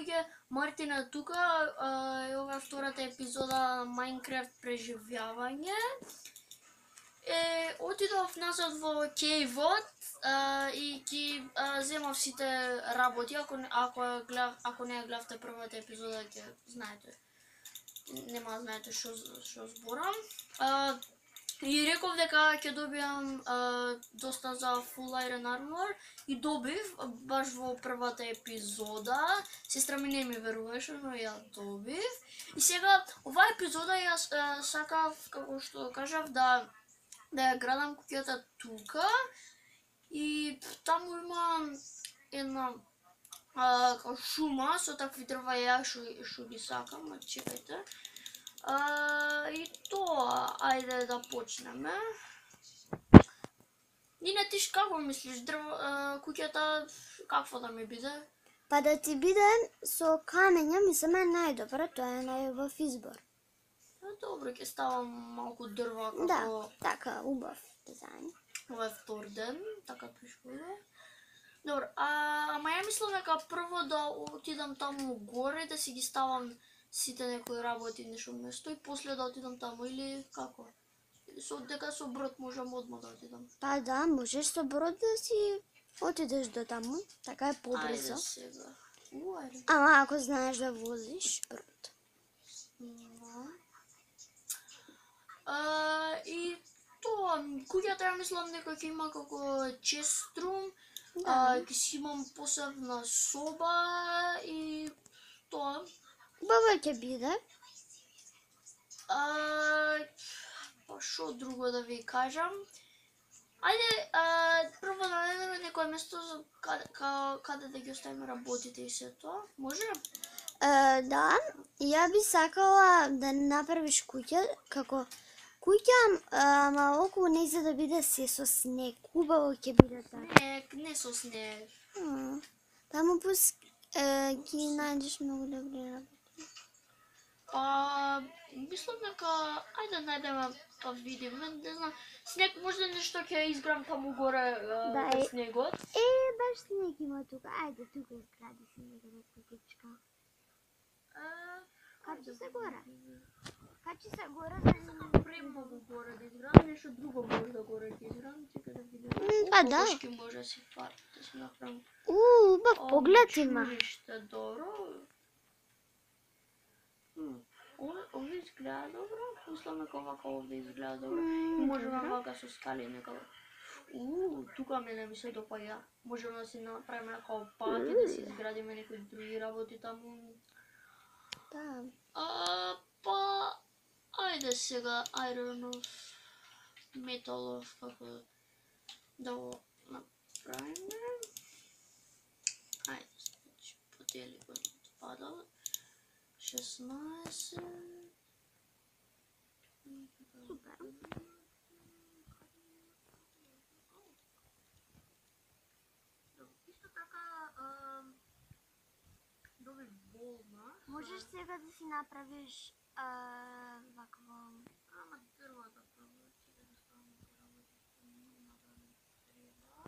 луѓе, Мартин е тука, ова е втората епизода Minecraft преживјавање. Отидов назад во кейвот и ги земав сите работи, ако не гледавте првата епизода, ќе знаете. Нема знаете што зборам. И реков дека ќе добиам доста за Full Iron Armor и добив баш во првата епизода. Сестра ми не ми веруваше, но ја добив. И сега оваа епизода јас сакав, како што кажав, да ја градам куќата тука и таму има една шума со такви дрва ја што ги сакам, чекајте. И тоа, ајде да почнеме. Нина, ти како мислиш, куќата какво да ми биде? Па да ти биде со камења, мислам е најдобро, тоа е најубав избор. Добро, ќе ставам малку дрва како... Да, така, убав дизајн. Ова е втор ден, така пришкода. Добро, ама ја мислам дека прво да отидам таму горе, да си ги ставам сите некои работи нешто место и после да отидам таму или како? Дека со брод можам одма да отидам. Па да, можеш со брод да си отидеш до таму, така е побрзо. Ајде сега. Ајде. Ама ако знаеш да возиш брод. И тоа, куќата ја мислам дека ќе има како честрум, ќе си имам посебна соба и тоа. Баба ќе биде. Па шо друго да ви кажам? Ајде, прво да најдеме некое место каде да ги оставиме работите и се тоа. Може? Да, ја би сакала да направиш куќа како куќа, ама околу нејзе да биде се со снег. Убаво ќе биде така. Не со снег. Таму ги најдеш многу добри работи. Мислам дека ајде најдеме па видиме, не знам. Снег можда нешто ќе изграм таму горе без снегот. Баш снег има тука. Ајде тука изгради си некаде куќичка. Качи се горе. Качи се горе да не премногу горе да изградам, нешто друго може да горе ќе изградам, чека да видим. Па да. Кошки може да си да си направам. Убав поглед има. Чуриште, добро. Овде изгледа добро, мислам дека овака овде изгледа добро. Можеме вака со скали некако. Тука мене ми се допаѓа. Можеме да си направиме некако пат и да си изградиме некои други работи таму. Да. Па ајде сега Iron of Metal of како да го направиме. Ајде, значи подели го отпадал. 16. Супер. Исто така доби болна. Можеш сега да си направиш вакво. Ама дрвата прво ќе да ставам работите нема да ми треба.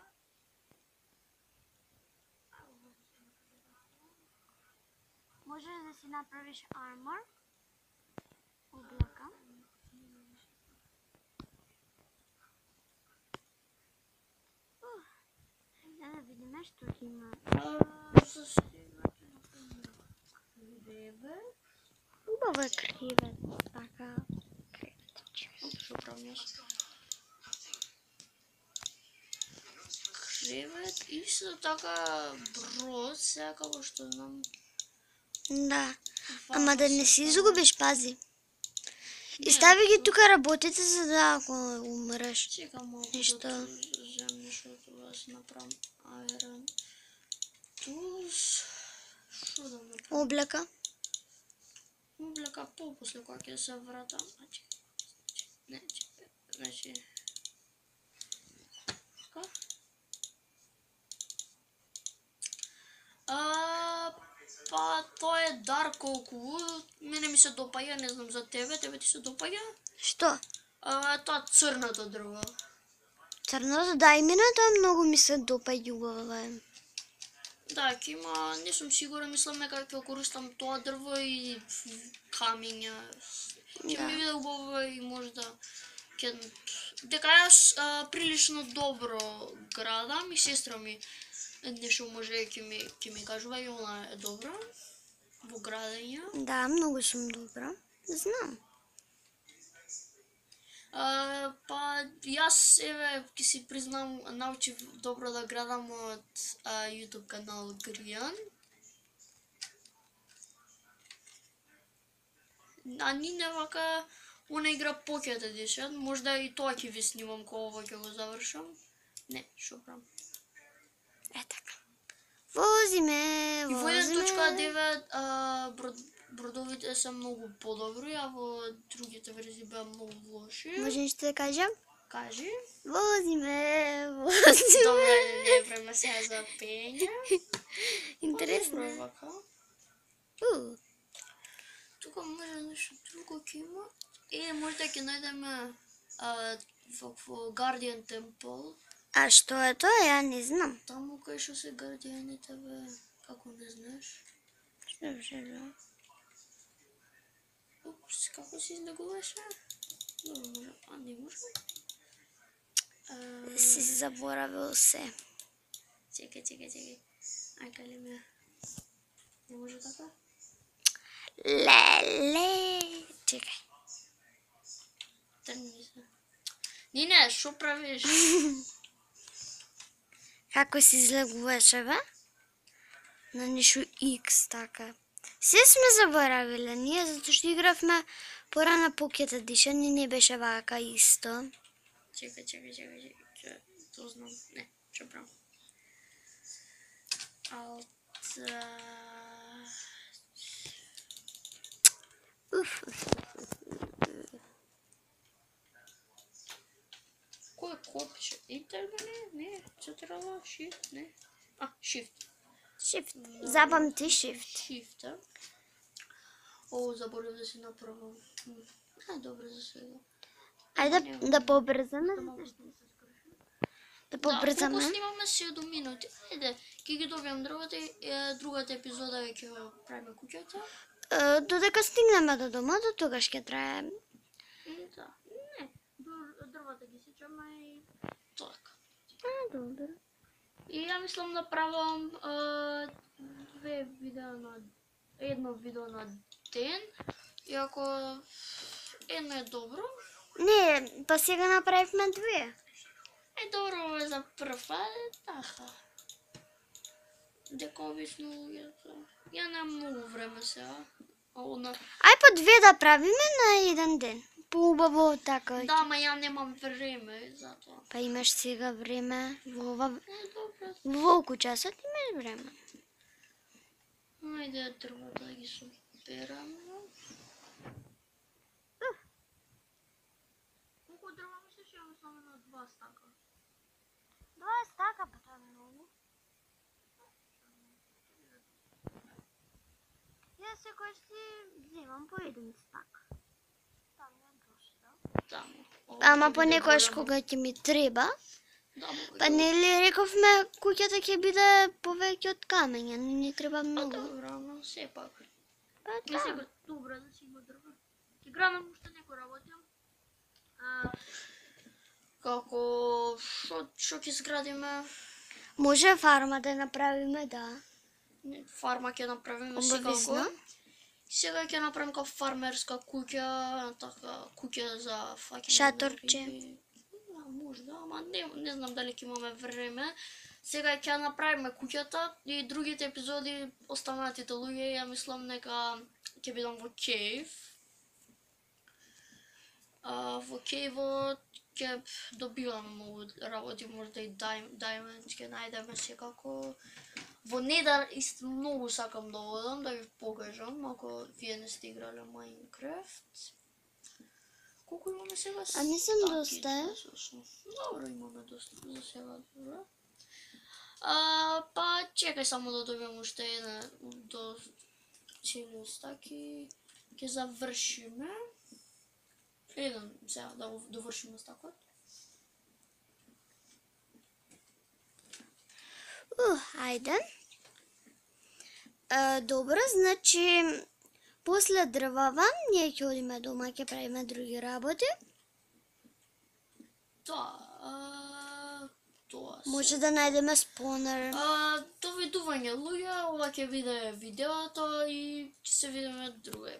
Можеш да си направиш армор. Облака. Да видиме што ќе има. Кревет. Убаво е кревет. Така. Креветче. Што правам јас? Кревет и исто така брод, сега како што знам. Да. Ама да не си изгубиш, пази. И стави ги тука работите за да ако умреш. Чекам малку нешто. да земам нешто да си направам Iron Tools. Што да направам? Облека. Облека после кога ќе се вратам. Значи. Така. Па тоа е дар колку. Мене ми се допаѓа, не знам за тебе ти се допаѓа? Што? Тоа црното дрво. Црното, да, и мене тоа многу ми се допаѓа убаво е. Да, ќе има, не сум сигурен, мислам дека ќе користам тоа дрво и камења. Ќе ми биде убаво и можда ќе дека јас прилично добро градам и сестра ми нешто може ќе ми кажува и она е добра во градење. Да, многу сум добра. Знам. Па јас еве ќе си признам научив добро да градам од YouTube канал Гријан. А Нине вака она игра Pocket Edition, можда и тоа ќе ви снимам кога ова ќе го завршам. Не, шо правам. Е така. Возиме. И во 1.9 бродовите се многу подобри, а во другите верзии беа многу лоши. Може нешто да кажам? Кажи. Возиме. Добре, не време сега за пење. Интересно. Добро вака. Тука може нешто друго ќе има. Можда ќе најдеме во Guardian Temple. А што е тоа? Ја не знам. Таму кај што се гардијаните, бе, како не знаеш? Што желам? Упс, како се излегуваше? Може, а не може? Си заборавил се. Чекај. Ај, кај ли ме? Не може така? Леле. Чекај. Трни се. Нине, шо правиш? Како се излегуваше, бе? На нешто X, така. Се сме заборавиле ние, затоа што игравме порано Pocket Edition и не беше вака исто. Чекај. То знам. Не, шо правам. Кој копче? Интер не, централа, shift, не. Shift. Shift. Запамти Shift. Shift, а? О, заборав да си направам. Добре за сега. Ајде да побрзаме. Да Колку побрзаме. снимаме 7 минути. Ајде, ќе ги добијам дрвата и другата епизода ќе го правиме куќата. Додека стигнеме до дома, до тогаш ќе трае. Да, не, дрвата ги сечаме и така. Добро. И ја мислам да правам едно видео на ден, иако едно е добро. Не, па сега направивме две. Добро е за прв, така. Дека обично ја немам многу време сега. Ај по две да правиме на еден ден. Поубаво така. Да, ма ја немам време за тоа. Па имаш сега време во Добро. волку часот имаш време. Ајде дрвата да ги соберам. Колку дрва мислиш ја само на 2 стака? 2 стака, па тоа е многу. Јас секој си вземам по 1 стак. Таму е дошто. Таму. Ама понекогаш кога ќе ми треба, па нели рековме куќата ќе биде повеќе од камења, не треба многу. Добро, но сепак. Па Не да. сега добро да си има дрва. Ќе градам уште некој работам. Како што ќе изградиме? Може фарма да направиме, да. Фарма ќе направиме Обавезно. секако. Сега ќе направим како фармерска куќа, така куќа за фаќање. Шаторче. Можда, ама не знам дали ќе имаме време. Сега ќе направиме куќата и другите епизоди останатите луѓе, ја мислам нека ќе бидам во кейв. Во кейвот ќе добиваме многу работи, можда и Diamond ќе најдеме секако. Во Nether исто многу сакам да одам, да ви покажам, ако вие не сте играле Minecraft. Колку имаме сега? А не сум доста. Добро, имаме доста за сега, добро. Па чекај само да добијам уште една до цело стаки. Ќе завршиме. Еден сега да го довршиме стакот. Ајде. Добро, значи после дрвава ние ќе одиме дома, ќе правиме други работи. Тоа се. Може да најдеме спонер. Довидување луѓе, ова ќе биде видеото и ќе се видиме друга